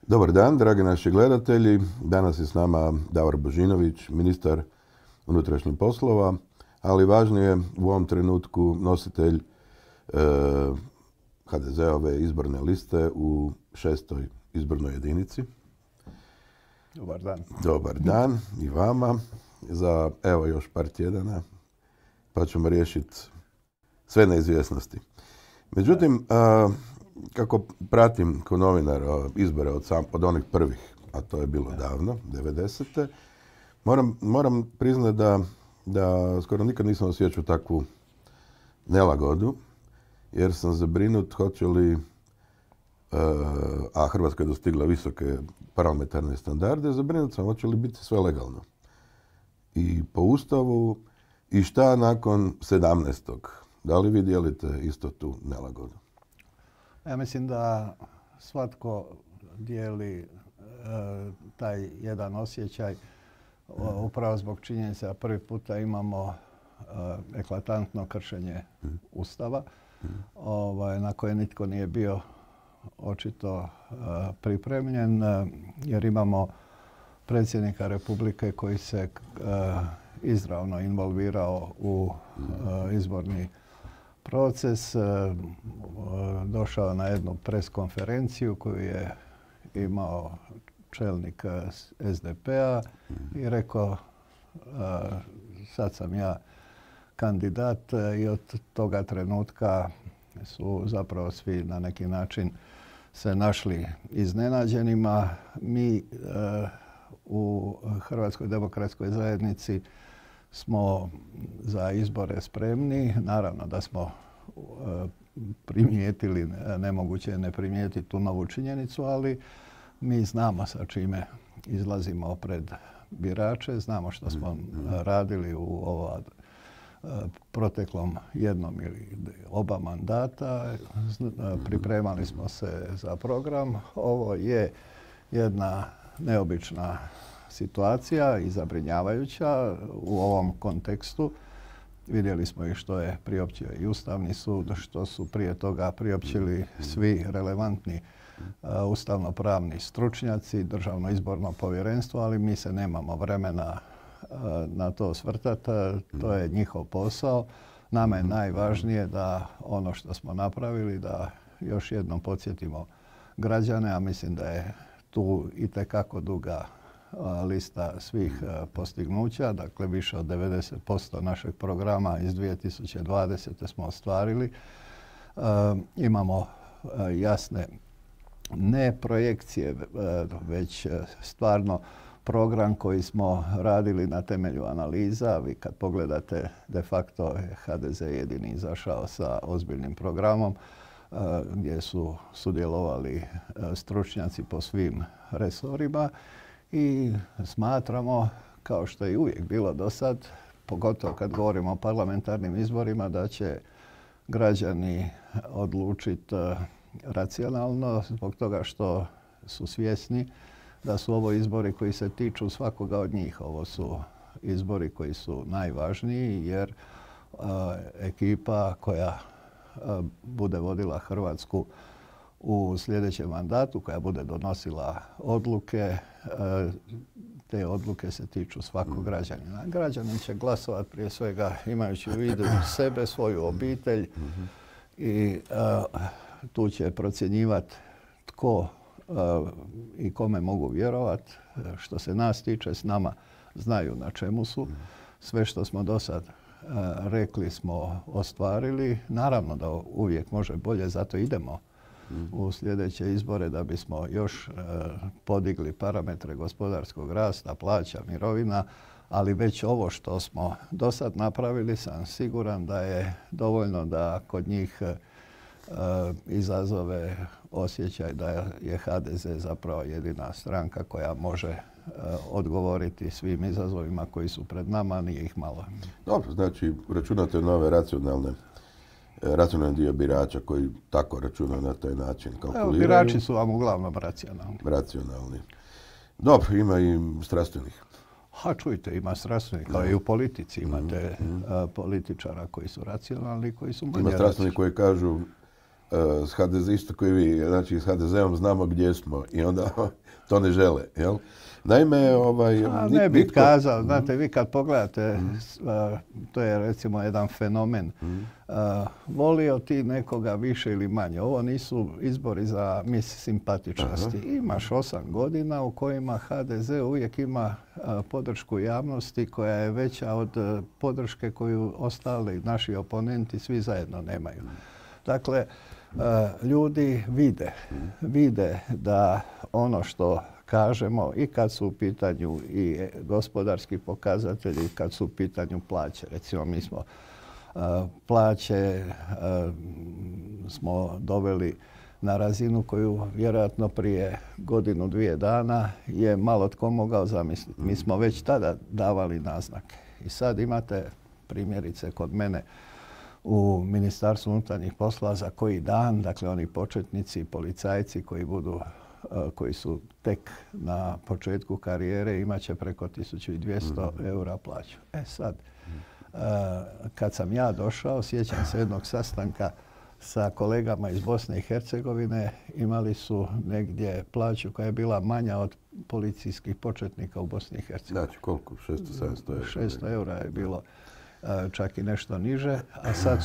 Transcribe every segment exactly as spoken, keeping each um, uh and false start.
Dobar dan, dragi naši gledatelji. Danas je s nama Davor Božinović, ministar unutrašnjih poslova, ali važnije u ovom trenutku nositelj e, ha de ze-ove izborne liste u šestoj izbornoj jedinici. Dobar dan. Dobar dan i vama. Za evo još par tjedana pa ćemo riješiti sve neizvjesnosti. Međutim, a, kako pratim kao novinar izbore od, sam, od onih prvih, a to je bilo davno, devedesete, moram, moram priznati da, da skoro nikad nisam osjećao takvu nelagodu, jer sam zabrinut hoće li, a Hrvatska je dostigla visoke parlamentarne standarde, zabrinut sam hoće li biti sve legalno. I po Ustavu, i šta nakon sedamnaestog Da li vi dijelite isto tu nelagodu? Ja mislim da svatko dijeli e, taj jedan osjećaj o, upravo zbog činjenice da prvi puta imamo e, eklatantno kršenje mm. Ustava mm. Ovaj, na koje nitko nije bio očito e, pripremljen, e, jer imamo predsjednika Republike koji se e, izravno involvirao u e, izborni proces, došao na jednu preskonferenciju koju je imao čelnik es de pe-a i rekao sad sam ja kandidat, i od toga trenutka su zapravo svi na neki način se našli iznenađenima. Mi u Hrvatskoj demokratskoj zajednici smo za izbore spremni. Naravno da smo primijetili, nemoguće je ne primijetiti tu novu činjenicu, ali mi znamo sa čime izlazimo pred birače, znamo što smo radili u ova proteklom jednom ili oba mandata, pripremali smo se za program. Ovo je jedna neobična situacija i zabrinjavajuća u ovom kontekstu. Vidjeli smo i što je priopćio i Ustavni sud, što su prije toga priopćili svi relevantni uh, ustavno-pravni stručnjaci, Državno izborno povjerenstvo, ali mi se nemamo vremena uh, na to osvrtati. To je njihov posao. Nama je najvažnije da ono što smo napravili, da još jednom podsjetimo građane, a mislim da je tu itekako duga lista svih postignuća, dakle više od devedeset posto našeg programa iz dvije tisuće dvadesete smo ostvarili. E, imamo jasne ne projekcije, već stvarno program koji smo radili na temelju analiza. Vi kad pogledate, de facto je ha de ze jedini izašao sa ozbiljnim programom gdje su sudjelovali stručnjaci po svim resorima. I smatramo, kao što je uvijek bilo do sad, pogotovo kad govorimo o parlamentarnim izborima, da će građani odlučiti racionalno zbog toga što su svjesni da su ovo izbori koji se tiču svakoga od njih. Ovo su izbori koji su najvažniji jer uh, ekipa koja uh, bude vodila Hrvatsku u sljedećem mandatu, koja bude donosila odluke, te odluke se tiču svakog građanina. Građanin će glasovati prije svega imajući u vidu sebe, svoju obitelj i uh, tu će procjenjivati tko uh, i kome mogu vjerovati. Što se nas tiče, s nama znaju na čemu su. Sve što smo do sad uh, rekli smo ostvarili. Naravno da uvijek može bolje, zato idemo u sljedeće izbore da bismo još e, podigli parametre gospodarskog rasta, plaća, mirovina, ali već ovo što smo do sad napravili sam siguran da je dovoljno da kod njih e, izazove osjećaj da je ha de ze zapravo jedina stranka koja može e, odgovoriti svim izazovima koji su pred nama, nije ih malo. Dobro, znači računate na ove racionalne racionalni dio birača koji tako računaju na taj način, kalkuliraju. Evo, birači su vam uglavnom racionalni. Racionalni. Dobro, ima i strastvenih. Ha, čujte, ima strastvenih, kao i u politici. Imate mm-hmm. uh, političara koji su racionalni, koji su manje Ima strastveni koji kažu uh, s ha de zom, isto koji vi, znači s ha de zom znamo gdje smo i onda to ne žele, jel? Naime, ovaj... A, nit, ne bih nitko... kazao, znate, vi kad pogledate, mm. uh, to je recimo jedan fenomen, mm. uh, volio ti nekoga više ili manje. Ovo nisu izbori za mis simpatičnosti. Aha. Imaš osam godina u kojima ha de ze uvijek ima uh, podršku javnosti koja je veća od uh, podrške koju ostali naši oponenti svi zajedno nemaju. Mm. Dakle, uh, ljudi vide, mm. vide da ono što kažemo i kad su u pitanju i gospodarski pokazatelji, kad su u pitanju plaće. Recimo, mi smo uh, plaće uh, smo doveli na razinu koju vjerojatno prije godinu, dvije dana je malo tko mogao zamisliti. Mi smo već tada davali naznake. I sad imate primjerice kod mene u Ministarstvu unutarnjih poslova za koji dan, dakle oni početnici, policajci koji budu koji su tek na početku karijere, imat će preko tisuću dvjesto eura plaću. E sad, kad sam ja došao, sjećam se jednog sastanka sa kolegama iz Bosne i Hercegovine, imali su negdje plaću koja je bila manja od policijskih početnika u Bosni i Hercegovini. Znači koliko? šesto sedamsto eura? šesto eura je bilo, čak i nešto niže, a sad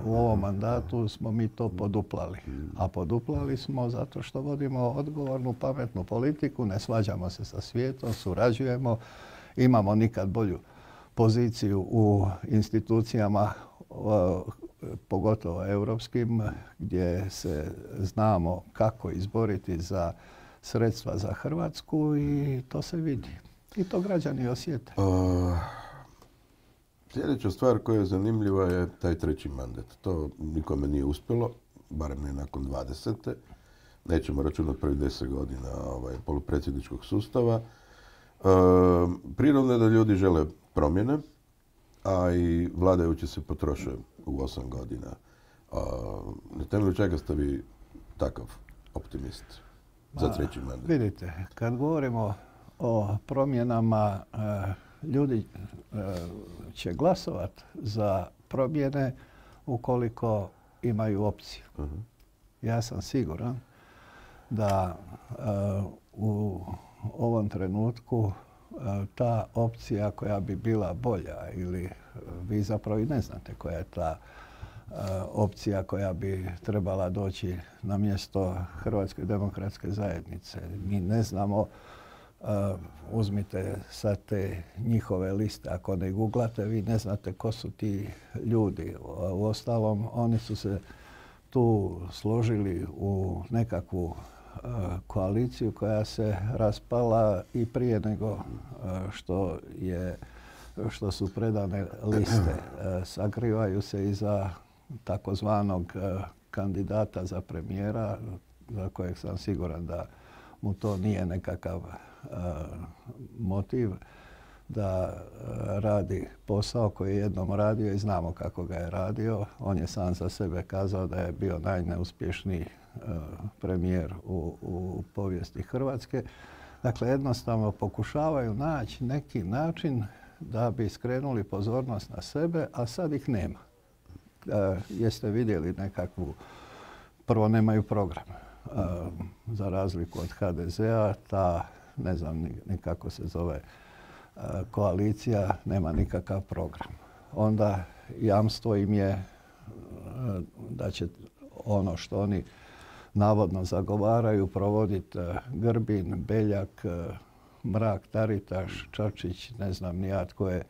u ovom mandatu smo mi to poduplali. A poduplali smo zato što vodimo odgovornu, pametnu politiku, ne svađamo se sa svijetom, surađujemo, imamo nikad bolju poziciju u institucijama, pogotovo europskim, gdje se znamo kako izboriti za sredstva za Hrvatsku i to se vidi. I to građani osjete. Uh... Sljedeća stvar koja je zanimljiva je taj treći mandat. To nikome nije uspjelo, barem ne nakon dvadesete. Nećemo računati prvih deset godina ovaj, polupredsjedničkog sustava. E, prirodno je da ljudi žele promjene, a i vladajući se potroše u osam godina. A, na temelju čega ste vi takav optimist za treći mandat? Vidite, kad govorimo o promjenama, e, ljudi e, će glasovati za promjene ukoliko imaju opciju. Uh-huh. Ja sam siguran da e, u ovom trenutku e, ta opcija koja bi bila bolja ili vi zapravo i ne znate koja je ta e, opcija koja bi trebala doći na mjesto Hrvatske demokratske zajednice. Mi ne znamo. Uh, uzmite sad te njihove liste, ako ne googlate, vi ne znate ko su ti ljudi. U ostalom, oni su se tu složili u nekakvu uh, koaliciju koja se raspala i prije nego uh, što, je, što su predane liste. Uh, sakrivaju se iza takozvanog uh, kandidata za premijera, za kojeg sam siguran da mu to nije nekakav Uh, motiv da uh, radi posao koji je jednom radio i znamo kako ga je radio. On je sam za sebe kazao da je bio najneuspješniji uh, premijer u, u povijesti Hrvatske. Dakle, jednostavno pokušavaju naći neki način da bi skrenuli pozornost na sebe, a sad ih nema. Uh, jeste vidjeli nekakvu, prvo nemaju program. Uh, za razliku od ha de zea, ta ne znam ni kako se zove, koalicija nema nikakav program. Onda jamstvo im je da će ono što oni navodno zagovaraju provoditi Grbin, Beljak, Mrak, Taritaš, Čačić, ne znam ni ja tko je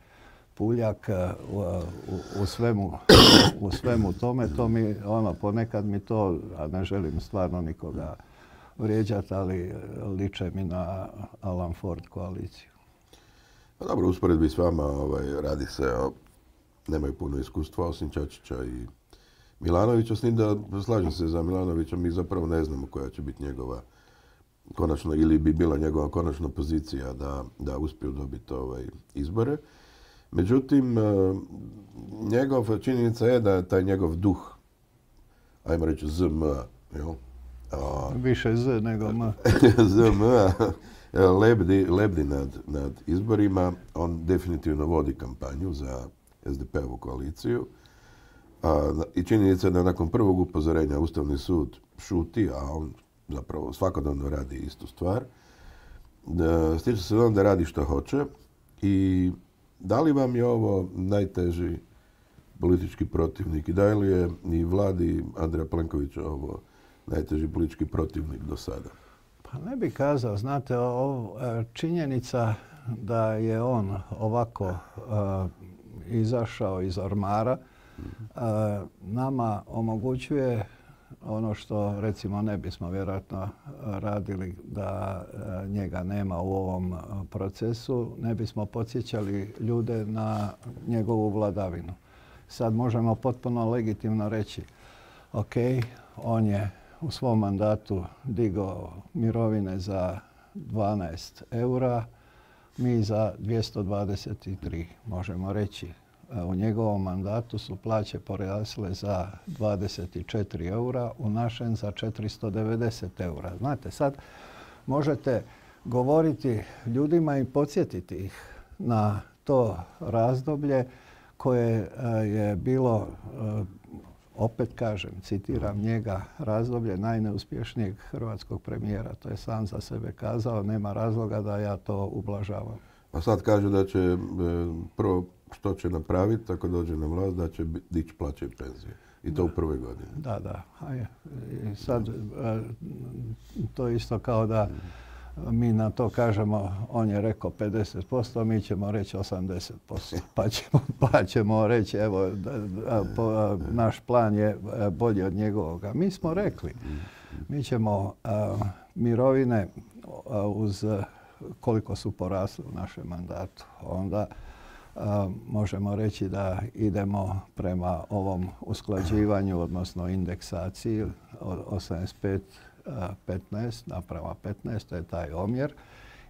Puljak. U, u, u, svemu, u svemu tome, to mi, ono, ponekad mi to, a ne želim stvarno nikoga vrijeđati, ali liče mi na Alan Ford koaliciju. Pa dobro, usporedbi s vama ovaj, radi se o... Nemaju puno iskustva osim Čačića i Milanovića. S njim da slažem se za Milanovića, mi zapravo ne znamo koja će biti njegova konačno, ili bi bila njegova konačna pozicija da, da uspiju dobiti ovaj, izbore. Međutim, njegov činjenica je da je taj njegov duh, ajmo reći Z M, jel? A, više Z nego M. Z M lebdi, lebdi nad, nad izborima. On definitivno vodi kampanju za es de pe ovu koaliciju. A, I činjenica je da nakon prvog upozorenja Ustavni sud šuti, a on zapravo svakodnevno radi istu stvar. Da, stječe se dojam da radi što hoće i da li vam je ovo najteži politički protivnik i da li je i vladi Andreja Plenkovića ovo najteži politički protivnik do sada? Pa ne bih kazao, znate, o, činjenica da je on ovako uh, izašao iz ormara uh, nama omogućuje ono što recimo ne bismo vjerojatno radili da uh, njega nema u ovom uh, procesu, ne bismo podsjećali ljude na njegovu vladavinu. Sad možemo potpuno legitimno reći, ok, on je u svom mandatu digao mirovine za dvanaest eura, mi za dvjesto dvadeset tri. Možemo reći, u njegovom mandatu su plaće porasle za dvadeset četiri eura, u našem za četiristo devedeset eura. Znate, sad možete govoriti ljudima i podsjetiti ih na to razdoblje koje je bilo, opet kažem, citiram njega, razdoblje najneuspješnijeg hrvatskog premijera. To je sam za sebe kazao, nema razloga da ja to ublažavam. A sad kaže da će prvo što će napraviti ako dođe na vlast, da će dići plaće i penzije. I to da. U prvoj godini. Da, da. A je. I sad to isto kao da mi na to kažemo, on je rekao pedeset posto, mi ćemo reći osamdeset posto. Pa ćemo, pa ćemo reći, evo, da, da, po, naš plan je bolji od njegovoga. Mi smo rekli, mi ćemo a, mirovine a, uz koliko su porasle u našem mandatu. Onda a, možemo reći da idemo prema ovom usklađivanju, odnosno indeksaciji od osamdeset pet petnaest naprama petnaest, to je taj omjer,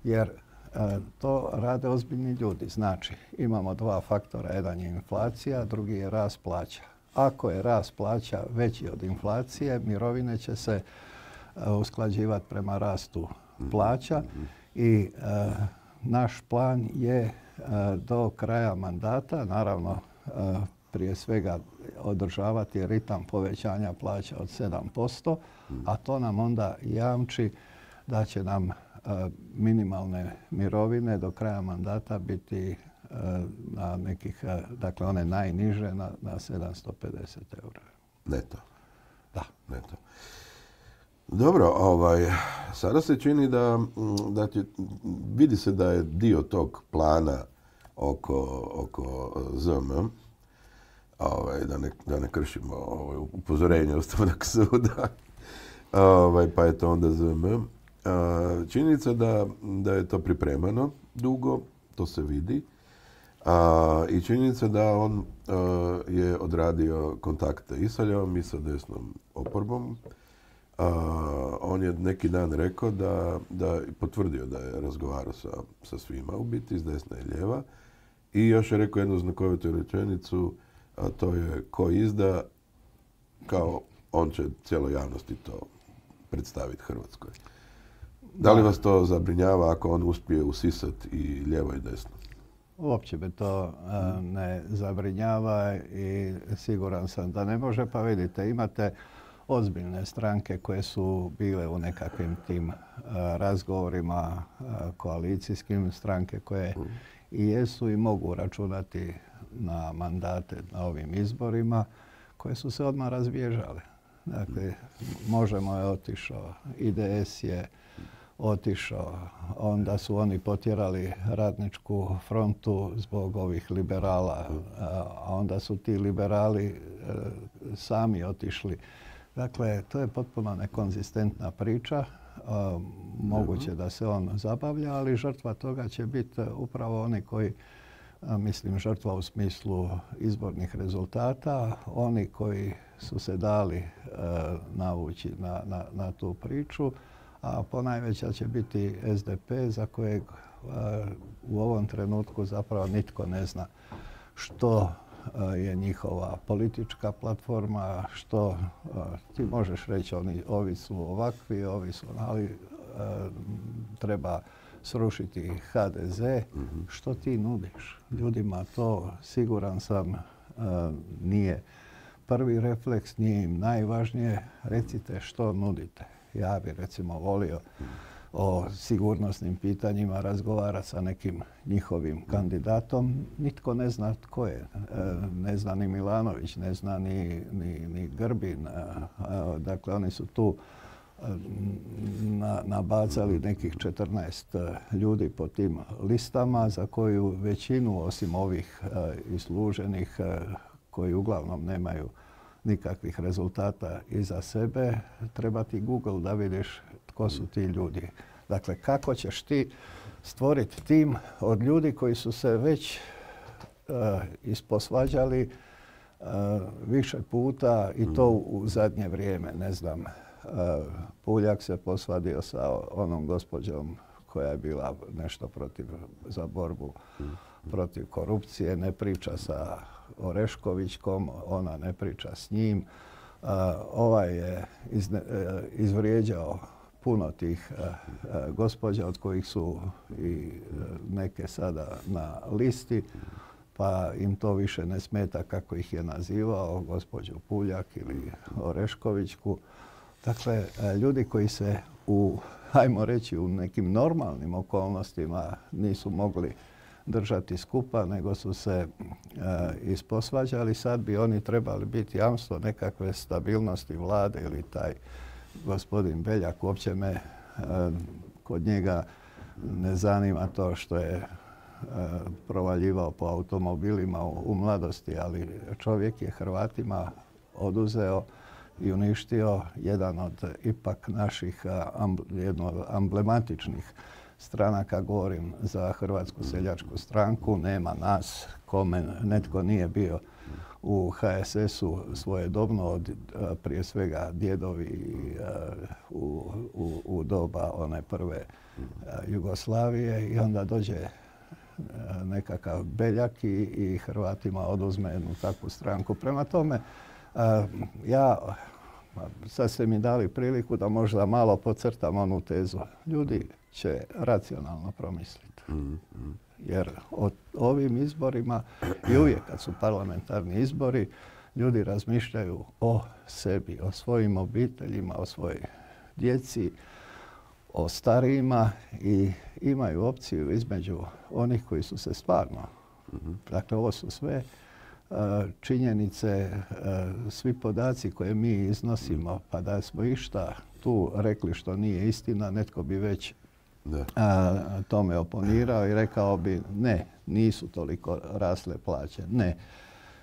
jer e, to rade ozbiljni ljudi. Znači, imamo dva faktora, jedan je inflacija, drugi je rast plaća. Ako je rast plaća veći od inflacije, mirovine će se e, usklađivati prema rastu plaća i e, naš plan je e, do kraja mandata, naravno, e, prije svega održavati ritam povećanja plaća od sedam posto, a to nam onda jamči da će nam minimalne mirovine do kraja mandata biti na nekih, dakle one najniže, na, na sedamsto pedeset eura. Neto? Da. Neto. Dobro, ovaj, sada se čini da, da će, vidi se da je dio tog plana oko, oko Z M, ovaj, da, ne, da ne kršimo ovaj, upozorenje Ustavnog suda, ovaj, pa je to onda Z M. Činjenica da, da je to pripremano dugo, to se vidi. A, I činjenica da on a, je odradio kontakte i sa ljevom i sa desnom oporbom. A, on je neki dan rekao da, da potvrdio da je razgovarao sa, sa svima u biti, s desna i lijeva. I još je rekao jednu znakovitu rečenicu, a to je ko izda, kao on će cijeloj javnosti to predstaviti Hrvatskoj. Da li vas to zabrinjava ako on uspije usisati i lijevo i desno? Uopće me to uh, ne zabrinjava i siguran sam da ne može. Pa vidite, imate ozbiljne stranke koje su bile u nekakvim tim uh, razgovorima uh, koalicijskim, stranke koje mm. i jesu i mogu računati na mandate na ovim izborima, koje su se odmah razbježale. Dakle, Možemo je otišao, I D S je otišao, onda su oni potjerali Radničku frontu zbog ovih liberala, a onda su ti liberali sami otišli. Dakle, to je potpuno nekonzistentna priča. Moguće da se on zabavlja, ali žrtva toga će biti upravo oni koji, mislim, žrtva u smislu izbornih rezultata, oni koji su se dali navući na, na, na tu priču, a ponajveća će biti S D P za kojeg u ovom trenutku zapravo nitko ne zna što je njihova politička platforma, što ti možeš reći, oni, ovi su ovakvi, ovi su, ali treba srušiti H D Z. Mm-hmm. Što ti nudiš? Ljudima to, siguran sam, nije prvi refleks, nije im najvažnije, recite što nudite. Ja bi recimo volio o sigurnosnim pitanjima razgovarati sa nekim njihovim kandidatom. Nitko ne zna tko je. Ne zna ni Milanović, ne zna ni, ni, ni Grbin. Dakle, oni su tu na, nabacali nekih četrnaest ljudi po tim listama za koju većinu, osim ovih isluženih koji uglavnom nemaju nikakvih rezultata iza sebe, treba ti Google da vidiš tko su ti ljudi. Dakle, kako ćeš ti stvoriti tim od ljudi koji su se već uh, isposvađali uh, više puta i to u zadnje vrijeme, ne znam. Uh, Puljak se posvadio sa onom gospođom koja je bila nešto protiv, za borbu protiv korupcije, ne priča sa Oreškovićkom, ona ne priča s njim. Uh, ovaj je izne, uh, izvrijeđao puno tih uh, uh, gospođa, od kojih su i uh, neke sada na listi, pa im to više ne smeta kako ih je nazivao, gospođu Puljak ili Oreškovićku. Dakle, uh, ljudi koji se u, hajmo reći, u nekim normalnim okolnostima nisu mogli držati skupa, nego su se e, isposvađali. Sad bi oni trebali biti jamstvo nekakve stabilnosti vlade ili taj gospodin Beljak. Uopće me e, kod njega ne zanima to što je e, provaljivao po automobilima u, u mladosti, ali čovjek je Hrvatima oduzeo i uništio jedan od ipak naših amb, jedno od amblematičnih stranaka, govorim za Hrvatsku seljačku stranku. Nema nas kome netko nije bio u ha es esu svojedobno, od prije svega djedovi u, u, u doba one prve Jugoslavije, i onda dođe nekakav Beljak i, i Hrvatima oduzme jednu takvu stranku. Prema tome, ja, sad ste mi dali priliku da možda malo podcrtam onu tezu. Ljudi će racionalno promisliti. Jer o ovim izborima i uvijek kad su parlamentarni izbori, ljudi razmišljaju o sebi, o svojim obiteljima, o svojoj djeci, o starijima i imaju opciju između onih koji su se stvarno, dakle ovo su sve činjenice, svi podaci koje mi iznosimo, pa da smo išta tu rekli što nije istina, netko bi već a, tome oponirao i rekao bi ne, nisu toliko rasle plaće, ne,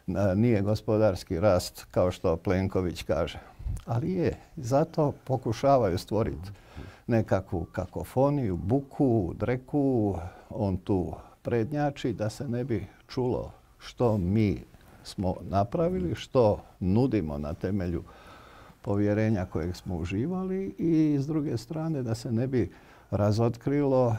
a, nije gospodarski rast kao što Plenković kaže. Ali je, zato pokušavaju stvoriti nekakvu kakofoniju, buku, dreku, on tu prednjači da se ne bi čulo što mi smo napravili, što nudimo na temelju povjerenja kojeg smo uživali, i s druge strane da se ne bi razotkrilo uh,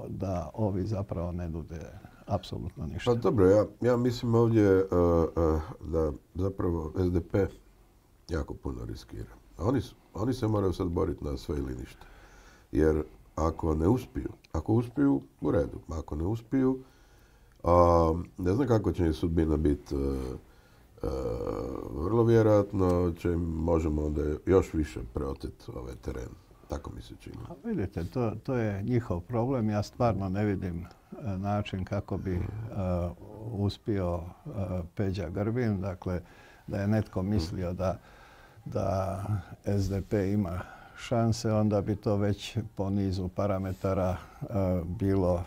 da ovi zapravo ne nude apsolutno ništa. Pa dobro, ja, ja mislim ovdje uh, uh, da zapravo es de pe jako puno riskira. Oni, su, oni se moraju sad boriti na sve ili ništa. Jer ako ne uspiju, ako uspiju, u redu. Ako ne uspiju, uh, ne znam kako će im sudbina biti. Uh, uh, vrlo vjerojatno će im, možemo onda još više preoteti ovaj teren. Tako mi se čini. A vidite, to, to je njihov problem. Ja stvarno ne vidim uh, način kako bi uh, uspio uh, Peđa Grbin. Dakle, da je netko mislio da, da es de pe ima šanse, onda bi to već po nizu parametara uh, bilo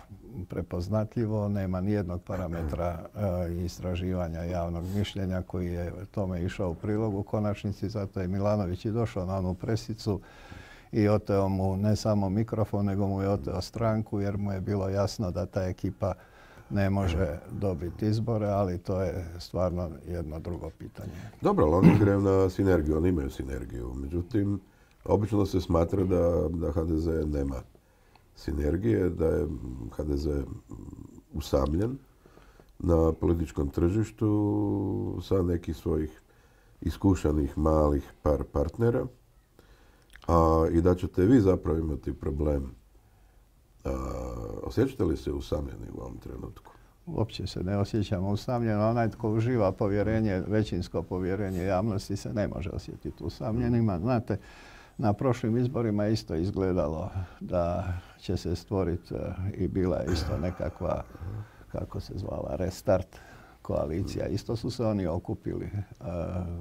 prepoznatljivo. Nema nijednog parametra uh, istraživanja javnog mišljenja koji je tome išao u prilog u konačnici. Zato je Milanović i došao na onu presicu i oteo mu ne samo mikrofon, nego mu je oteo stranku, jer mu je bilo jasno da ta ekipa ne može dobiti izbore, ali to je stvarno jedno drugo pitanje. Dobro, ali oni greju na sinergiju, oni imaju sinergiju. Međutim, obično se smatra da, da ha de ze nema sinergije, da je ha de ze usamljen na političkom tržištu sa nekih svojih iskušanih malih par partnera. A, i da ćete vi zapravo imati problem. A, osjećate li se usamljeni u ovom trenutku? uopće se ne osjećamo usamljeno. Onaj tko uživa povjerenje, većinsko povjerenje javnosti se ne može osjetiti usamljenima. Znate, na prošlim izborima je isto izgledalo da će se stvoriti i bila je isto nekakva, kako se zvala, restart koalicija. Isto su se oni okupili uh,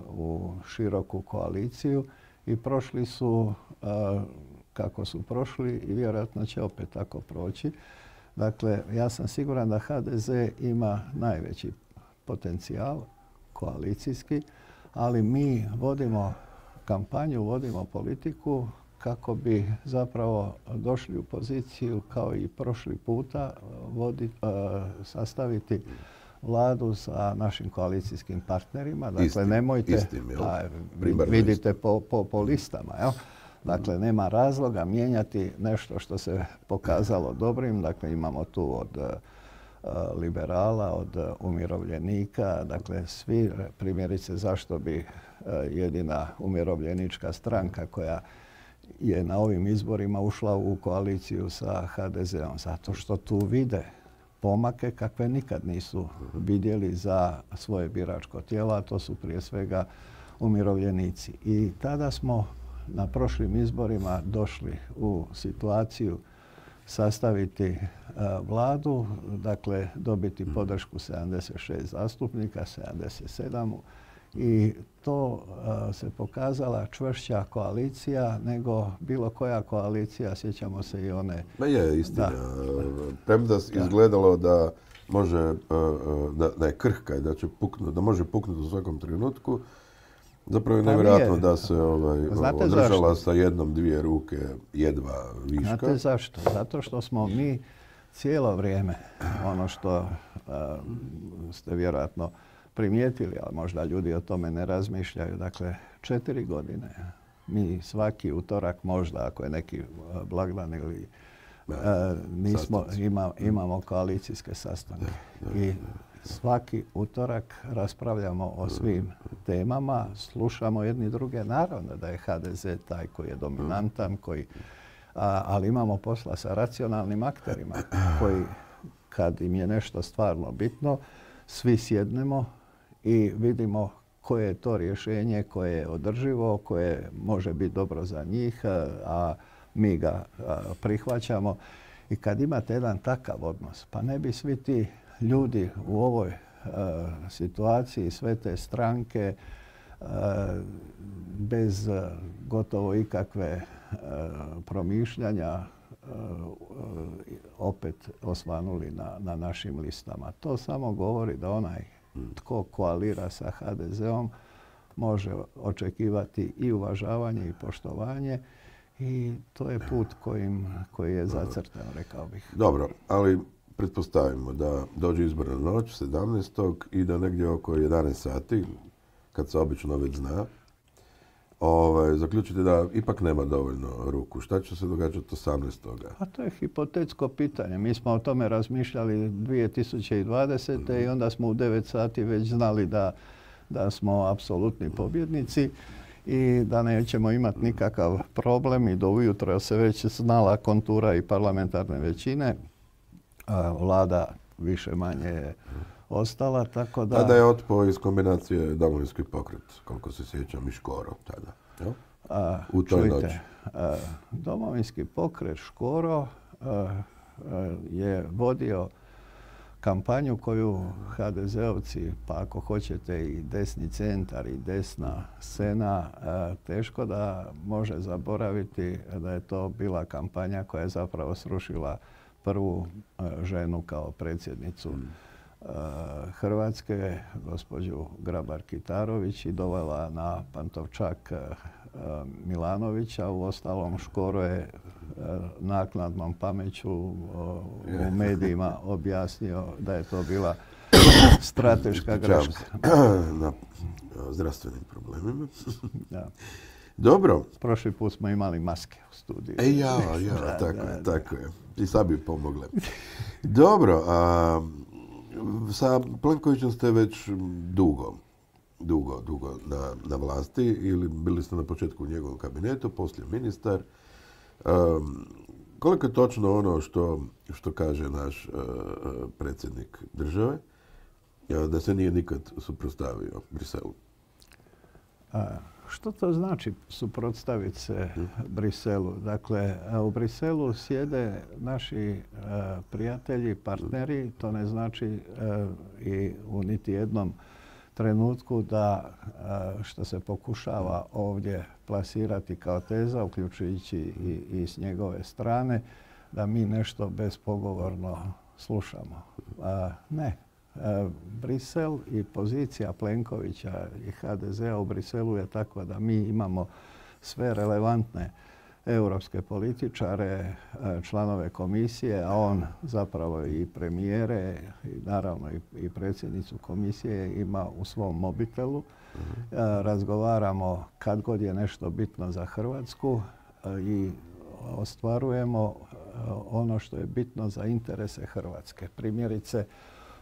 u široku koaliciju i prošli su uh, kako su prošli i vjerojatno će opet tako proći. Dakle, ja sam siguran da ha de ze ima najveći potencijal koalicijski, ali mi vodimo kampanju, vodimo politiku kako bi zapravo došli u poziciju kao i prošli puta vodi, uh, sastaviti vladu sa našim koalicijskim partnerima. Dakle, istim, nemojte, istim, da, vidite po, po, po listama, jel? Dakle, nema razloga mijenjati nešto što se pokazalo dobrim. Dakle, imamo tu od uh, liberala, od uh, umirovljenika. Dakle, svi, primjerice, zašto bi uh, jedina umirovljenička stranka koja je na ovim izborima ušla u koaliciju sa ha de zeom? Zato što tu vide pomake kakve nikad nisu vidjeli za svoje biračko tijelo, a to su prije svega umirovljenici. I tada smo na prošlim izborima došli u situaciju sastaviti uh, vladu, dakle dobiti podršku sedamdeset šest zastupnika, sedamdeset sedam, i to uh, se pokazala čvršća koalicija nego bilo koja koalicija, sjećamo se i one... Ma je, istina. Premda izgledalo da može, uh, da, da je krhka i da će puknuti, da može puknuti u svakom trenutku. Zapravo je nevjerojatno da se ovaj, održala sa jednom, dvije ruke jedva viška. Znate zašto? Zato što smo mi cijelo vrijeme, ono što uh, ste vjerojatno primijetili, ali možda ljudi o tome ne razmišljaju, dakle, četiri godine mi svaki utorak, možda ako je neki blagdan ili uh, nismo, ima, imamo koalicijske sastanke. I svaki utorak raspravljamo o svim temama, slušamo jedni druge. Naravno da je ha de ze taj koji je dominantan, koji, a, ali imamo posla sa racionalnim akterima koji, kad im je nešto stvarno bitno, svi sjednemo i vidimo koje je to rješenje koje je održivo, koje može biti dobro za njih, a, a mi ga a, prihvaćamo. I kad imate jedan takav odnos, pa ne bi svi ti ljudi u ovoj uh, situaciji, sve te stranke, uh, bez uh, gotovo ikakve uh, promišljanja uh, uh, opet osvanuli na, na našim listama. To samo govori da onaj tko koalira sa ha de zeom može očekivati i uvažavanje i poštovanje, i to je put kojim, koji je zacrtan, rekao bih. Dobro, ali pretpostavimo da dođe izborna noć sedamnaestog i da negdje oko jedanaest sati, kad se obično već zna, ovaj, zaključite da ipak nema dovoljno ruku. Šta će se događati osamnaestog? Pa to je hipotetsko pitanje. Mi smo o tome razmišljali dvije tisuće dvadesete. Mm-hmm. i onda smo u devet sati već znali da, da smo apsolutni pobjednici i da nećemo imati nikakav problem, i do ujutro se već znala kontura i parlamentarne većine. Vlada više manje je ostala, tako da... Tada je otpao iz kombinacije Domovinski pokret, koliko se sjećam, i Škoro tada. Jo? A, u toj čujte, noći. A, Domovinski pokret, Škoro a, a, je vodio kampanju koju ha de zeovci, pa ako hoćete i desni centar i desna scena, a, teško da može zaboraviti da je to bila kampanja koja je zapravo srušila prvu ženu kao predsjednicu Hrvatske, gospođu Grabar-Kitarović, i dovela na Pantovčak Milanovića. Uostalom, Škoro je naknadnom pameću u medijima objasnio da je to bila strateška greška. Na zdravstvenim problemima. Da. Dobro. Prošli put smo imali maske u studiju. E ja, ja, da, tako da, je, da. tako je. I sad bi pomogle. Dobro, a sa Plenkovićem ste već dugo, dugo, dugo na, na vlasti, ili bili ste na početku u njegovom kabinetu, poslije ministar. Um, koliko je točno ono što, što kaže naš uh, predsjednik države, da se nije nikad suprotstavio Briselu? A, što to znači suprotstaviti se Briselu? Dakle, u Briselu sjede naši a, prijatelji, partneri. To ne znači a, i u niti jednom trenutku da a, što se pokušava ovdje plasirati kao teza, uključujući i, i s njegove strane, da mi nešto bespogovorno slušamo. A, ne. Brisel i pozicija Plenkovića i ha de zea u Briselu je takva da mi imamo sve relevantne europske političare, članove komisije, a on zapravo i premijere i naravno i predsjednicu komisije ima u svom mobitelu. Razgovaramo kad god je nešto bitno za Hrvatsku i ostvarujemo ono što je bitno za interese Hrvatske. Primjerice,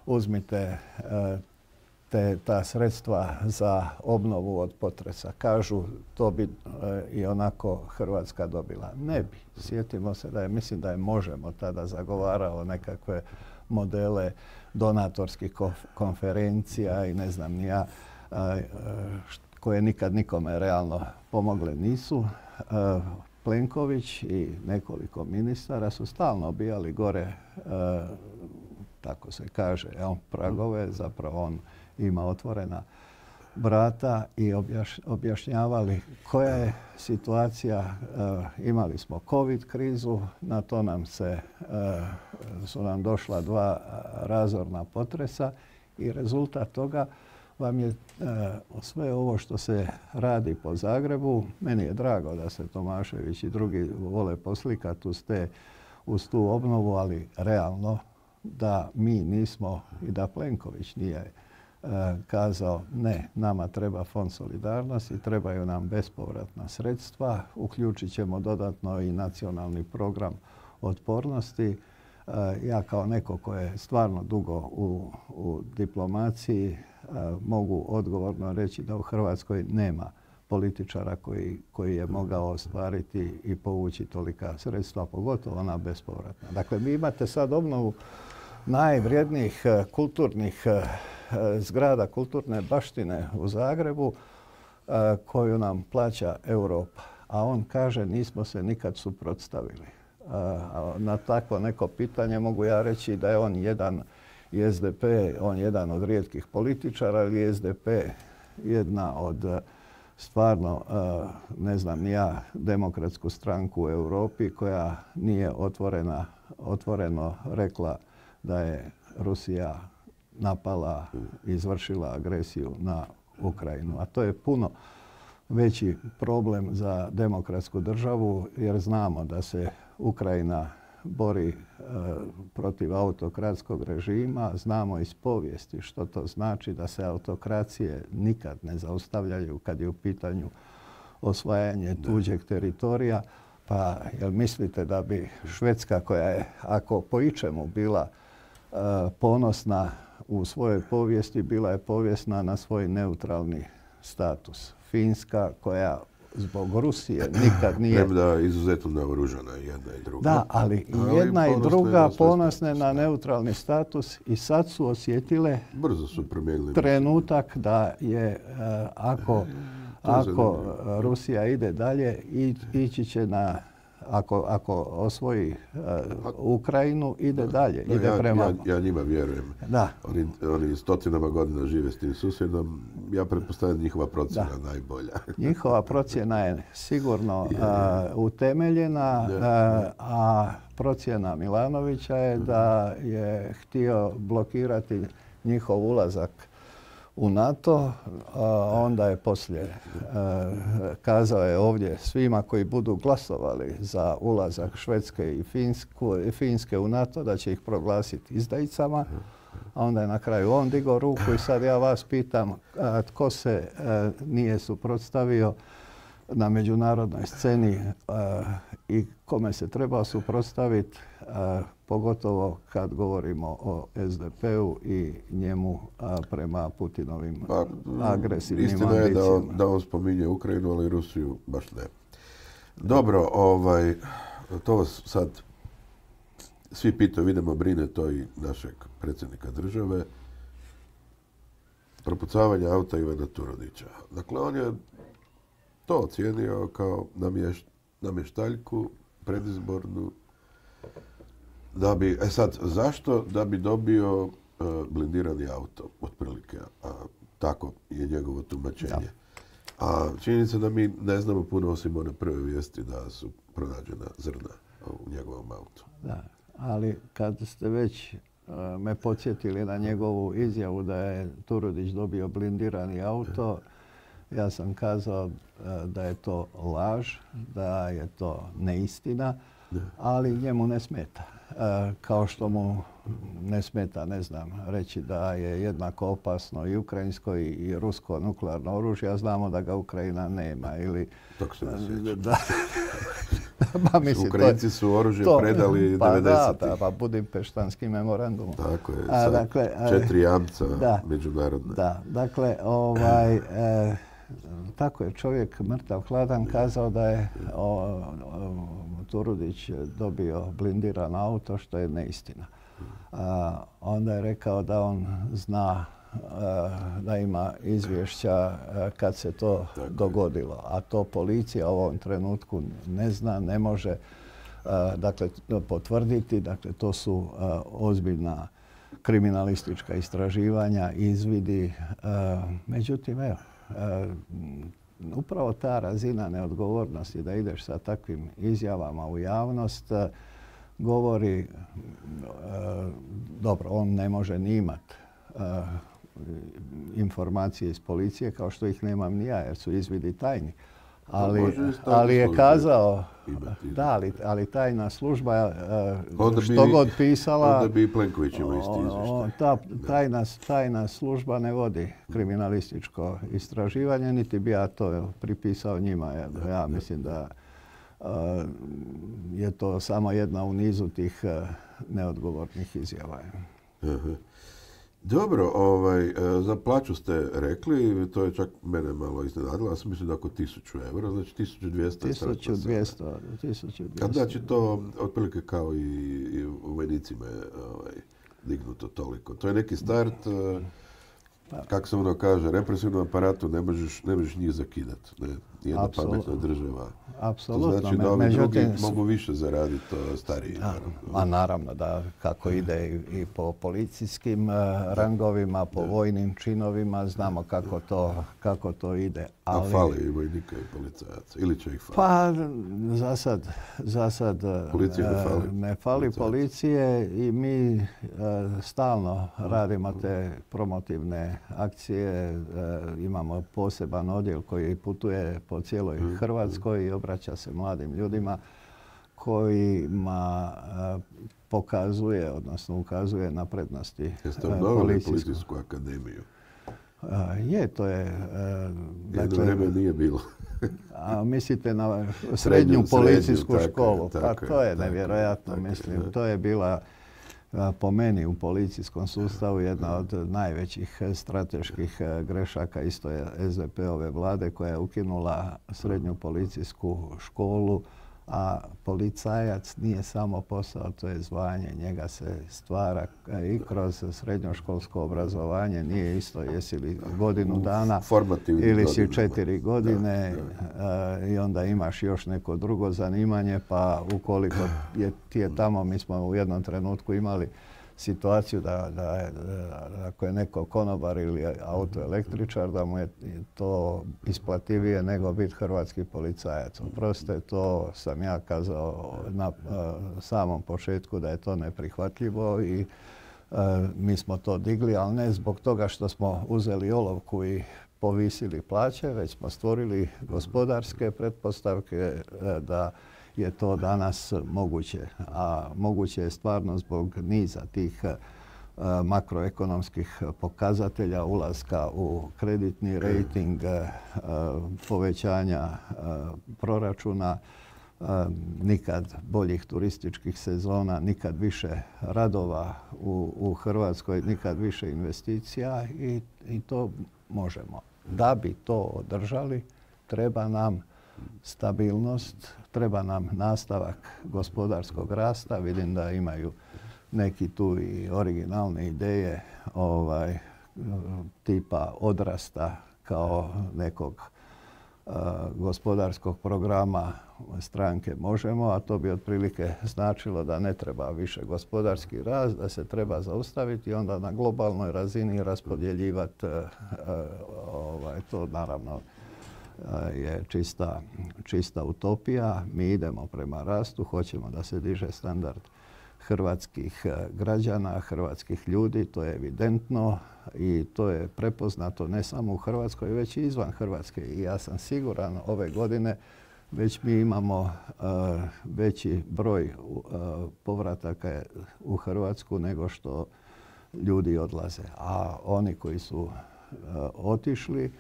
uzmite te, ta sredstva za obnovu od potresa. Kažu to bi i onako Hrvatska dobila. Ne bi. Sjetimo se da je, mislim da je Možemo tada zagovarao nekakve modele donatorskih konferencija i ne znam ni ja, koje nikad nikome realno pomogle nisu. Plenković i nekoliko ministara su stalno obijali gore, tako se kaže, jel, pragove, zapravo on ima otvorena vrata i objaš, objašnjavali koja je situacija. E, imali smo COVID krizu, na to nam se, e, su nam došla dva razorna potresa i rezultat toga vam je e, sve ovo što se radi po Zagrebu. Meni je drago da se Tomašević i drugi vole poslikati uz, te, uz tu obnovu, ali realno da mi nismo i da Plenković nije e, kazao ne, nama treba fond solidarnosti, trebaju nam bespovratna sredstva, uključit ćemo dodatno i nacionalni program otpornosti. E, ja kao neko ko je stvarno dugo u, u diplomaciji e, mogu odgovorno reći da u Hrvatskoj nema političara koji, koji je mogao ostvariti i povući tolika sredstva, pogotovo ona bespovratna. Dakle, vi imate sad obnovu najvrijednijih kulturnih zgrada, kulturne baštine u Zagrebu koju nam plaća Europa. A on kaže nismo se nikad suprotstavili. Na takvo neko pitanje mogu ja reći da je on jedan i es de pe, on jedan od rijetkih političara ili es de pe jedna od stvarno, ne znam ni ja, demokratsku stranku u Europi koja nije otvorena, otvoreno rekla da je Rusija napala i izvršila agresiju na Ukrajinu. A to je puno veći problem za demokratsku državu jer znamo da se Ukrajina bori e, protiv autokratskog režima. Znamo iz povijesti što to znači da se autokracije nikad ne zaustavljaju kad je u pitanju osvajanje tuđeg teritorija. Pa jel mislite da bi Švedska koja je, ako po ičemu bila e, ponosna u svojoj povijesti, bila je povijesna na svoj neutralni status. Finska koja zbog Rusije nikad nije... Premda izuzetno naoružana jedna i druga. Da, ali i jedna i druga ponosne na neutralni status i sad su osjetile brzo su promijenili trenutak da je, uh, ako, ako Rusija ide dalje, i, ići će na... Ako, ako osvoji uh, Ukrajinu, ide dalje, da, ide ja, prema... Ja, ja njima vjerujem. Da. Oni, oni stotinama godina žive s tim susjedom. Ja pretpostavljam njihova procjena da. najbolja. Njihova procjena je sigurno je, je. Uh, utemeljena, je, je. Uh, a procjena Milanovića je mm. da je htio blokirati njihov ulazak u NATO, a onda je poslije a, kazao je ovdje svima koji budu glasovali za ulazak Švedske i Finsku, Finske u NATO da će ih proglasiti izdajicama. A onda je na kraju on digao ruku i sad ja vas pitam a, tko se a, nije suprotstavio na međunarodnoj sceni a, i kome se treba suprotstaviti, pogotovo kad govorimo o es de pe-u i njemu a, prema Putinovim pa, agresivnim istina ambicijama. Istina je da on, da on spominje Ukrajinu, ali Rusiju baš ne. Dobro, ovaj, to vas sad svi pitaju, vidimo, brine to i našeg predsjednika države, propucavanje auta Ivana Turudića. Dakle, on je to ocijenio kao namješ, namještaljku predizbornu. Da bi, e sad, zašto? Da bi dobio uh, blindirani auto, otprilike. A tako je njegovo tumačenje. Da. A činjenica da mi ne znamo puno osim one prve vijesti da su pronađena zrna u njegovom autu. Da, ali kad ste već uh, me podsjetili na njegovu izjavu da je Turudić dobio blindirani auto, ja sam kazao uh, da je to laž, da je to neistina, ne. Ali njemu ne smeta. Uh, kao što mu ne smeta, ne znam, reći da je jednako opasno i ukrajinsko i, i rusko nuklearno oružje, a znamo da ga Ukrajina nema. Ili, tako se ne sjeća. Da. Pa mislim, Ukrajinci su oružje to, predali pa devedesetih. Da, da, pa Budimpeštanski memorandum. Tako je, a, dakle, četiri jamca da, međunarodne. Da, dakle, ovaj, e, tako je čovjek mrtav hladan kazao da je o, o, Turudić dobio blindiran auto, što je neistina. A, onda je rekao da on zna a, da ima izvješća a, kad se to tako dogodilo, a to policija u ovom trenutku ne zna, ne može a, dakle, potvrditi. Dakle, to su a, ozbiljna kriminalistička istraživanja, izvidi. A, međutim, evo, a, upravo ta razina neodgovornosti da ideš sa takvim izjavama u javnost govori, e, dobro, on ne može ni imat e, informacije iz policije kao što ih nemam ni ja jer su izvidi tajni. Ali, ali je kazao, da, ali, ali tajna služba e, što bi, god pisala, onda bi Plenković imao isti izvještaj. Ta tajna, tajna služba ne vodi kriminalističko istraživanje, niti bi ja to pripisao njima. Ja, da, ja mislim da uh, je to samo jedna u nizu tih uh, neodgovornih izjava. Aha. Dobro, ovaj, za plaću ste rekli, to je čak mene malo iznenadilo, ja sam mislim da oko tisuću eura, znači tisuću dvjesto. tisuću dvjesto. Kad znači to otprilike kao i, i u vojnicima je ovaj, dignuto toliko. To je neki start, pa, kako se ono kaže, represivnom aparatu ne možeš, ne možeš njih zakidati. Ne? Jedna pametna država. Apsolutno. To znači da ovi drugi mogu više zaraditi, to stariji. Da, a naravno da kako ide i, i po policijskim uh, rangovima, po da. vojnim činovima, znamo kako to, kako to ide. Ali, a fali i vojnika i policajaca? Ili će ih fali? Pa za sad, za sad policija ne fali, ne fali policije i mi uh, stalno radimo te promotivne akcije. Uh, imamo poseban odjel koji putuje po cijeloj mm. Hrvatskoj i obraća se mladim ljudima kojima uh, pokazuje, odnosno ukazuje na prednosti Jeste obnovili policijsku akademiju? Uh, je, to je... Uh, Jedno dakle, vreme nije bilo. A mislite na srednju, srednju policijsku srednju, školu? Tako, pa tako, to je nevjerojatno, tako, mislim. Tako, to je bila po meni u policijskom sustavu jedna od najvećih strateških grešaka isto je es de pe ove vlade koja je ukinula srednju policijsku školu, a policajac nije samo posao, to je zvanje. Njega se stvara i kroz srednjoškolsko obrazovanje. Nije isto jesi li godinu dana ili si četiri godine da, da. i onda imaš još neko drugo zanimanje, pa ukoliko je, ti je tamo, mi smo u jednom trenutku imali situaciju da, da, da, da ako je neko konobar ili autoelektričar, da mu je to isplativije nego biti hrvatski policajac. Oprostite, to sam ja kazao na uh, samom početku da je to neprihvatljivo i uh, mi smo to digli, ali ne zbog toga što smo uzeli olovku i povisili plaće, već smo stvorili gospodarske pretpostavke uh, da je to danas moguće. A moguće je stvarno zbog niza tih uh, makroekonomskih pokazatelja, ulaska u kreditni rejting, uh, povećanja uh, proračuna, uh, nikad boljih turističkih sezona, nikad više radova u, u Hrvatskoj, nikad više investicija i, i to možemo. Da bi to održali, treba nam stabilnost, treba nam nastavak gospodarskog rasta. Vidim da imaju neki tu i originalne ideje ovaj, tipa odrasta kao nekog uh, gospodarskog programa stranke Možemo, a to bi otprilike značilo da ne treba više gospodarski rast, da se treba zaustaviti i onda na globalnoj razini raspodjeljivati uh, ovaj, to naravno uh, je čista, čista utopija. Mi idemo prema rastu, hoćemo da se diže standard hrvatskih građana, hrvatskih ljudi, to je evidentno i to je prepoznato ne samo u Hrvatskoj, već i izvan Hrvatske. I ja sam siguran ove godine već mi imamo uh, veći broj uh, povrataka u Hrvatsku nego što ljudi odlaze. A oni koji su uh, otišli,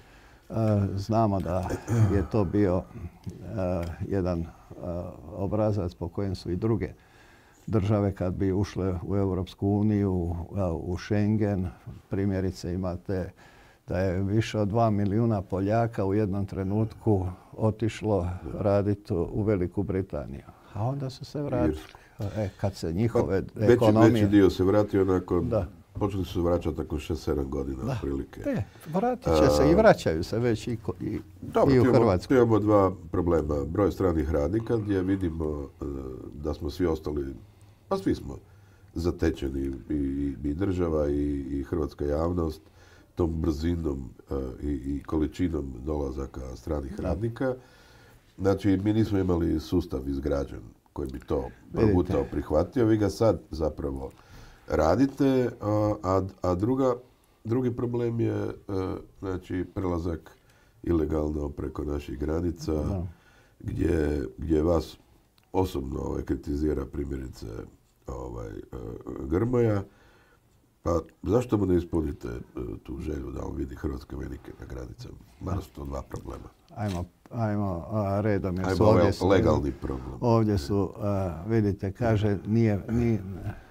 uh, znamo da je to bio uh, jedan uh, obrazac po kojem su i druge države kad bi ušle u Europsku uniju, u Schengen. Primjerice imate da je više od dva milijuna Poljaka u jednom trenutku otišlo raditi u Veliku Britaniju. A onda su se vratili. E, kad se njihove pa, ekonomije... Veći dio se vratio nakon... Da. Počeli su se vraćati tako šest sedam godina otprilike. Da, vratit će se i vraćaju se već i, i, Dobro, i u Hrvatsku. Tu imamo dva problema. Broj stranih radnika gdje vidimo da smo svi ostali, pa svi smo zatečeni i, i država i, i hrvatska javnost tom brzinom i, i količinom dolazaka stranih da. radnika. Znači, mi nismo imali sustav izgrađen koji bi to progutao, prihvatio. Vi ga sad zapravo radite, a, a druga, drugi problem je znači, prelazak ilegalno preko naših granica, da. gdje, gdje vas osobno ovaj, kritizira primjerice ovaj, Grmoja. Pa zašto mu ne ispunite tu želju da on vidi hrvatske vojnike na granicama? Mada su to dva problema. Ajmo, ajmo a, redom. Jer ajmo su ovdje su, legalni problem. Ovdje su, a, vidite, kaže, nije, ni,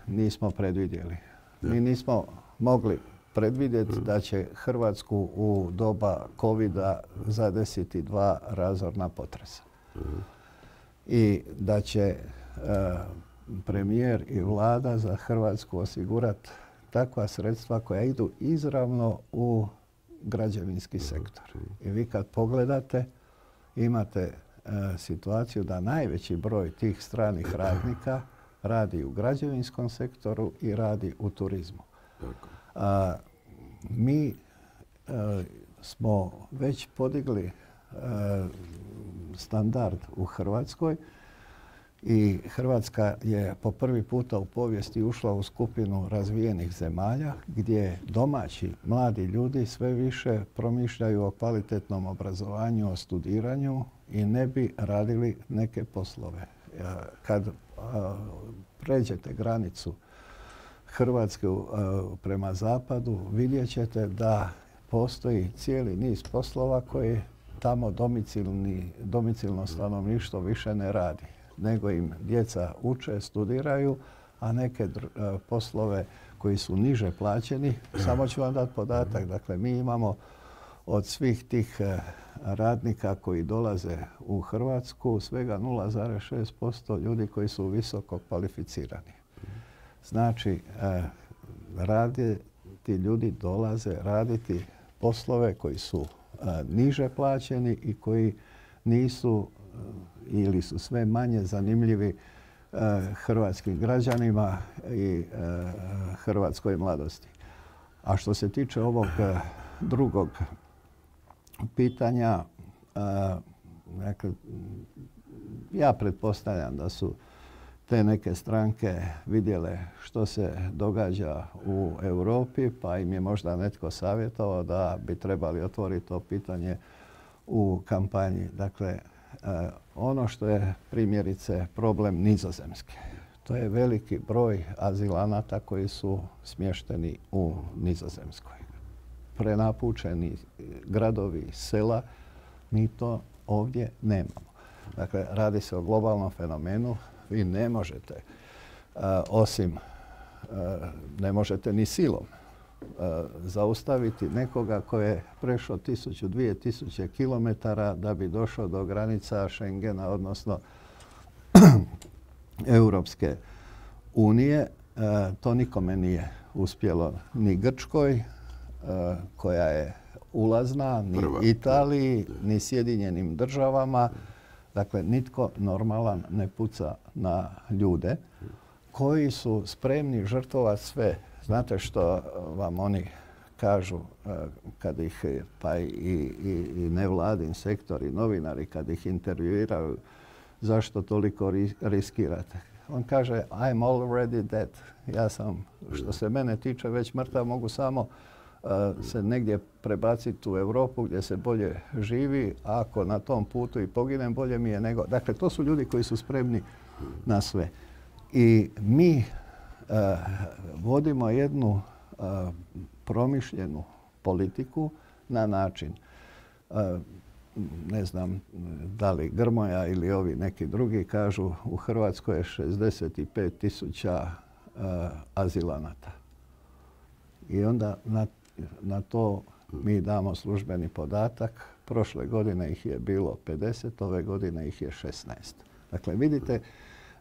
nismo predvidjeli. Ja. Mi nismo mogli predvidjeti da će Hrvatsku u doba covida zadesiti dva razorna potresa. Uh-huh. I da će a, premijer i vlada za Hrvatsku osigurati takva sredstva koja idu izravno u građevinski sektor. I vi kad pogledate, imate e, situaciju da najveći broj tih stranih radnika radi u građevinskom sektoru i radi u turizmu. A, mi e, smo već podigli e, standard u Hrvatskoj i Hrvatska je po prvi puta u povijesti ušla u skupinu razvijenih zemalja gdje domaći mladi ljudi sve više promišljaju o kvalitetnom obrazovanju, o studiranju i ne bi radili neke poslove. Kad a, pređete granicu Hrvatske a, prema zapadu, vidjet ćete da postoji cijeli niz poslova koje tamo domicilni, domicilno stanovništvo više ne radi, nego im djeca uče, studiraju, a neke dr- poslove koji su niže plaćeni, samo ću vam dati podatak. Dakle, mi imamo od svih tih radnika koji dolaze u Hrvatsku svega nula zarez šest posto ljudi koji su visoko kvalificirani. Znači, radi, ti ljudi dolaze raditi poslove koji su niže plaćeni i koji nisu ili su sve manje zanimljivi uh, hrvatskim građanima i uh, hrvatskoj mladosti. A što se tiče ovog uh, drugog pitanja, uh, dakle, ja pretpostavljam da su te neke stranke vidjele što se događa u Europi, pa im je možda netko savjetovao da bi trebali otvoriti to pitanje u kampanji. Dakle, Uh, ono što je primjerice problem Nizozemske. To je veliki broj azilanata koji su smješteni u Nizozemskoj. Prenapučeni gradovi, sela, mi to ovdje nemamo. Dakle, radi se o globalnom fenomenu. Vi ne možete, uh, osim, uh, ne možete ni silom zaustaviti nekoga ko je prešao tisuću, dvije tisuće kilometara da bi došao do granica Schengena, odnosno Europske unije. E, to nikome nije uspjelo, ni Grčkoj, e, koja je ulazna, ni Prva. Italiji, ni Sjedinjenim državama. Dakle, nitko normalan ne puca na ljude koji su spremni žrtvovati sve. Znate što vam oni kažu kad ih, pa i, i, i nevladin sektor i novinari kad ih intervjuiraju, zašto toliko riskirate? On kaže, I'm already dead. Ja sam, što se mene tiče, već mrtav, mogu samo uh, se negdje prebaciti u Europu gdje se bolje živi, a ako na tom putu i poginem, bolje mi je nego... Dakle, to su ljudi koji su spremni na sve. I mi uh, vodimo jednu uh, promišljenu politiku na način, uh, ne znam da li Grmoja ili ovi neki drugi kažu, u Hrvatskoj je šezdeset pet tisuća uh, azilanata. I onda na, na to mi damo službeni podatak. Prošle godine ih je bilo pedeset, ove godine ih je šesnaest. Dakle, vidite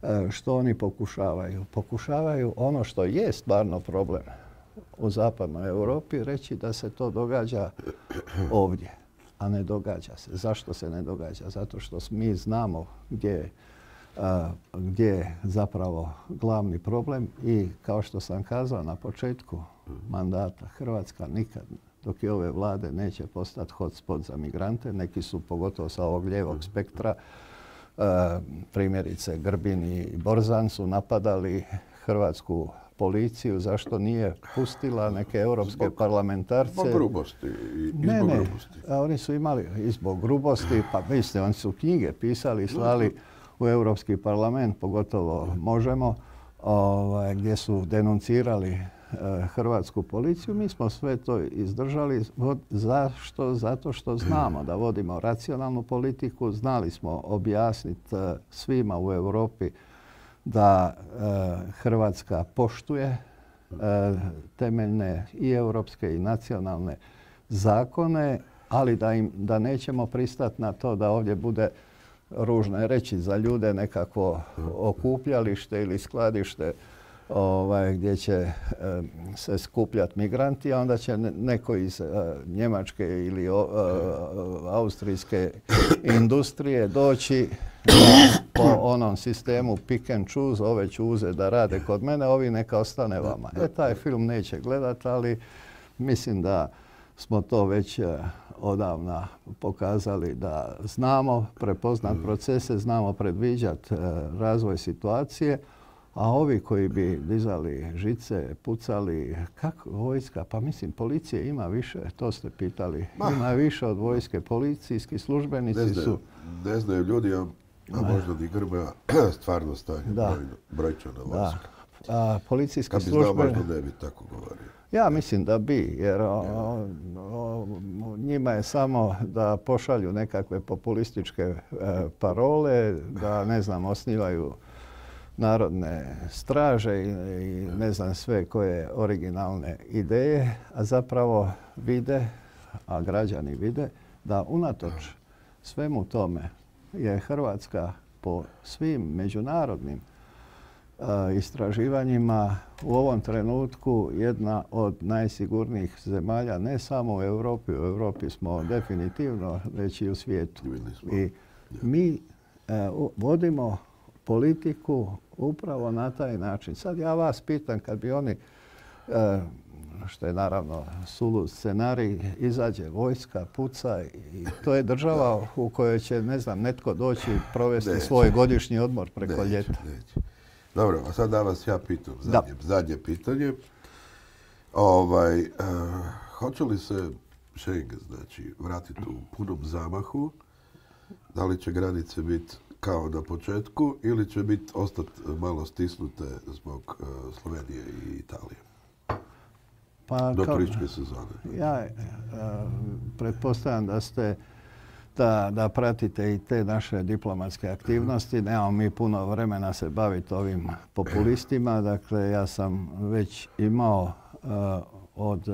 uh, što oni pokušavaju. Pokušavaju ono što je stvarno problem u zapadnoj Europi, reći da se to događa ovdje. A ne događa se. Zašto se ne događa? Zato što mi znamo gdje, uh, gdje je zapravo glavni problem i kao što sam kazao na početku mandata, Hrvatska nikad dok je ove vlade neće postati hotspot za migrante. Neki su pogotovo sa ovog lijevog spektra, uh, primjerice Grbin i Borzan su napadali hrvatsku policiju, zašto nije pustila neke europske zbog, parlamentarce. Zbog grubosti. I, ne, zbog ne. grubosti. A oni su imali i zbog grubosti, pa mislite, oni su knjige pisali i slali u Europski parlament, pogotovo Možemo, ovaj, gdje su denuncirali eh, hrvatsku policiju. Mi smo sve to izdržali. Zašto? Zato što znamo da vodimo racionalnu politiku. Znali smo objasniti eh, svima u Europi da e, Hrvatska poštuje e, temeljne i europske i nacionalne zakone, ali da, im, da nećemo pristati na to da ovdje bude, ružno je reći za ljude, nekakvo okupljalište ili skladište ovaj, gdje će e, se skupljati migranti, a onda će neko iz e, Njemačke ili o, e, austrijske industrije doći po onom sistemu pick and choose, ove čuze da rade kod mene, ovi neka ostane vama. E, taj film neće gledati, ali mislim da smo to već odavna pokazali da znamo prepoznat procese, znamo predviđati razvoj situacije, a ovi koji bi dizali žice, pucali, kako vojska? Pa mislim, policije ima više, to ste pitali. Ima više od vojske. Policijski službenici ne znaju, su... Ne znaju ljudi, a možda ni Grmoja stvarno stanje brojčana vojska. A, policijski kad bi službe... znao, možda ne bi tako govorio. Ja mislim da bi, jer o, o, o, njima je samo da pošalju nekakve populističke e, parole, da, ne znam, osnivaju narodne straže i, i ne znam sve koje originalne ideje, a zapravo vide, a građani vide, da unatoč svemu tome je Hrvatska po svim međunarodnim uh, istraživanjima u ovom trenutku jedna od najsigurnijih zemalja, ne samo u Europi, u Europi smo definitivno, već i u svijetu. I mi uh, vodimo politiku upravo na taj način. Sad ja vas pitam, kad bi oni, uh, što je naravno sulud scenarij, izađe vojska, puca i to je država u kojoj će, ne znam, netko doći provesti neće. svoj godišnji odmor preko neće, ljeta. Neće. Dobro, a sad da vas ja pitam, zadnje, zadnje pitanje. Ovaj, uh, hoće li se Schengen, znači, vratiti u punom zamahu? Da li će granice biti kao na početku ili će biti ostati malo stisnute zbog uh, Slovenije i Italije? Pa, do kao, turističke sezone. Ja uh, pretpostavljam da ste da, da pratite i te naše diplomatske aktivnosti. Nemamo mi puno vremena se baviti ovim populistima. Dakle, ja sam već imao uh, od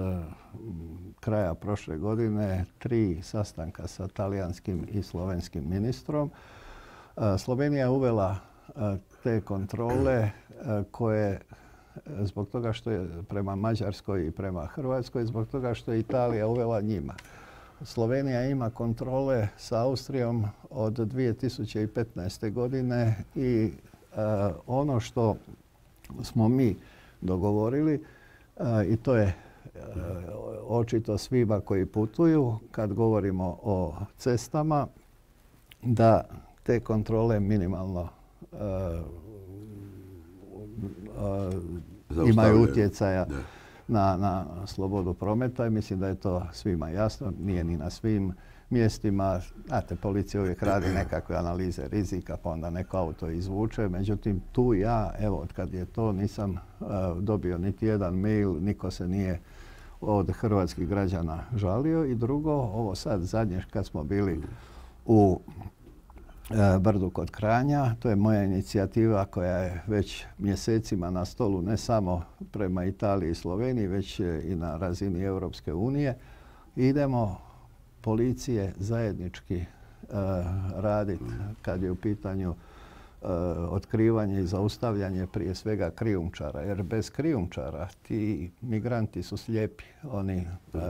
kraja prošle godine tri sastanka sa talijanskim i slovenskim ministrom. Slovenija je uvela te kontrole koje zbog toga što je prema Mađarskoj i prema Hrvatskoj, zbog toga što je Italija uvela njima. Slovenija ima kontrole sa Austrijom od dvije tisuće petnaeste. godine i ono što smo mi dogovorili, i to je očito svima koji putuju, kad govorimo o cestama, da te kontrole minimalno uh, uh, imaju utjecaja na, na slobodu prometa i mislim da je to svima jasno. Nije ni na svim mjestima. Znate, policija uvijek radi nekakve analize rizika, pa onda neko auto izvuče. Međutim, tu ja, evo, od kad je to, nisam uh, dobio niti jedan mail, niko se nije od hrvatskih građana žalio. I drugo, ovo sad zadnje kad smo bili u Brdu kod Kranja. To je moja inicijativa koja je već mjesecima na stolu, ne samo prema Italiji i Sloveniji, već i na razini Europske unije. Idemo policije zajednički uh, raditi kad je u pitanju uh, otkrivanje i zaustavljanje prije svega krijumčara. Jer bez krijumčara ti migranti su slijepi. Oni, uh,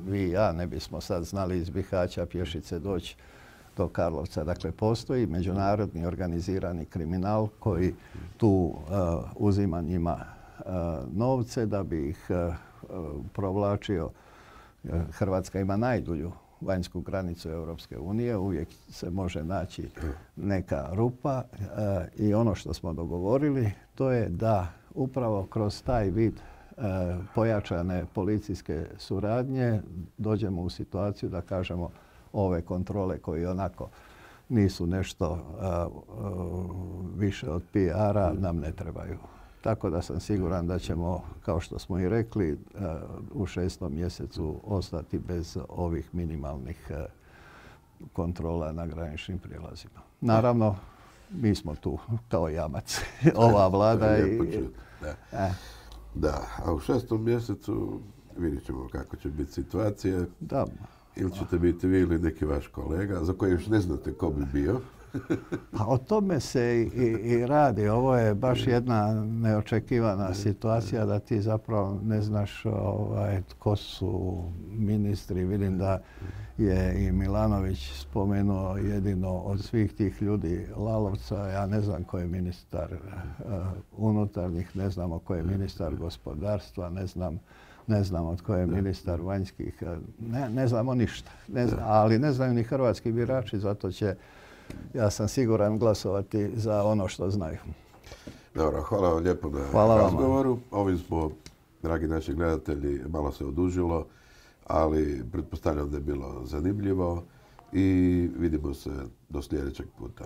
vi i ja ne bismo sad znali iz Bihaća pješice doći do Karlovca. Dakle, postoji međunarodni organizirani kriminal koji tu uh, uzima njima uh, novce da bi ih uh, provlačio. Hrvatska ima najdulju vanjsku granicu Europske unije. Uvijek se može naći neka rupa uh, i ono što smo dogovorili to je da upravo kroz taj vid uh, pojačane policijske suradnje dođemo u situaciju da kažemo ove kontrole koje onako nisu nešto uh, uh, više od P R-a nam ne trebaju. Tako da sam siguran da ćemo, kao što smo i rekli, uh, u šestom mjesecu ostati bez ovih minimalnih uh, kontrola na graničnim prijelazima. Naravno, mi smo tu kao jamac, ova vlada. i, da. Eh. da, a u šestom mjesecu vidjet ćemo kako će biti situacija. Da. Ili ćete biti vi ili neki vaš kolega, za koji još ne znate ko bi bio? Pa o tome se i, i radi. Ovo je baš jedna neočekivana situacija da ti zapravo ne znaš ovaj, tko su ministri. Vidim da je i Milanović spomenuo jedino od svih tih ljudi Lalovca. Ja ne znam ko je ministar uh, unutarnjih, ne znamo ko je ministar gospodarstva, ne znam Ne znam od koje je ministar vanjskih, ne, ne znamo ništa. Ne znam, ali ne znaju ni hrvatski birači, zato će, ja sam siguran, glasovati za ono što znaju. Dobro, hvala vam lijepo na hvala razgovoru. Vama. Ovim smo, dragi naši gledatelji, malo se odužilo, ali pretpostavljam da je bilo zanimljivo i vidimo se do sljedećeg puta.